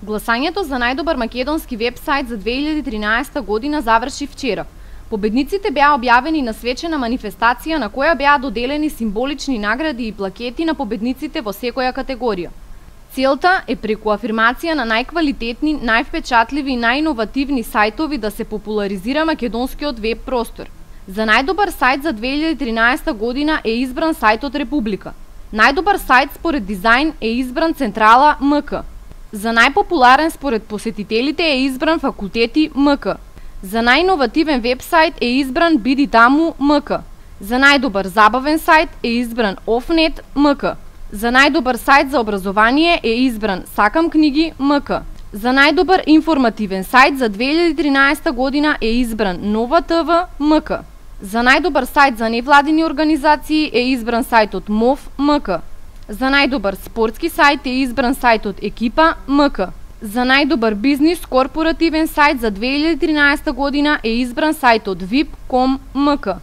Гласањето за најдобар македонски веб-сайт за 2013 година заврши вчера. Победниците беа објавени на свечена манифестација на која беа доделени символични награди и плакети на победниците во секоја категорија. Целта е преку афирмација на најквалитетни, највпечатливи и најиновативни сајтови да се популаризира македонскиот веб простор. За најдобар сајт за 2013 година е избран сајтот Република. Најдобар сајт според дизајн е избран Централа МК. За најпопуларен според посетителите е избран Факултети МК. За најиновативен веб-сайт е избран Биди таму МК. За најдобар забавен сайт е избран Офнет МК. За најдобар сайт за образование е избран Сакам книги МК. За најдобар информативен сайт за 2013 година е избран Нова ТВ МК. За најдобар сайт за невладини организации е избран сајтот МОВ МК. За најдобар спортски сайт е избран сајтот Екипа МК. За најдобар бизнис корпоративен сайт за 2013 година е избран сајтот VIP.com МК.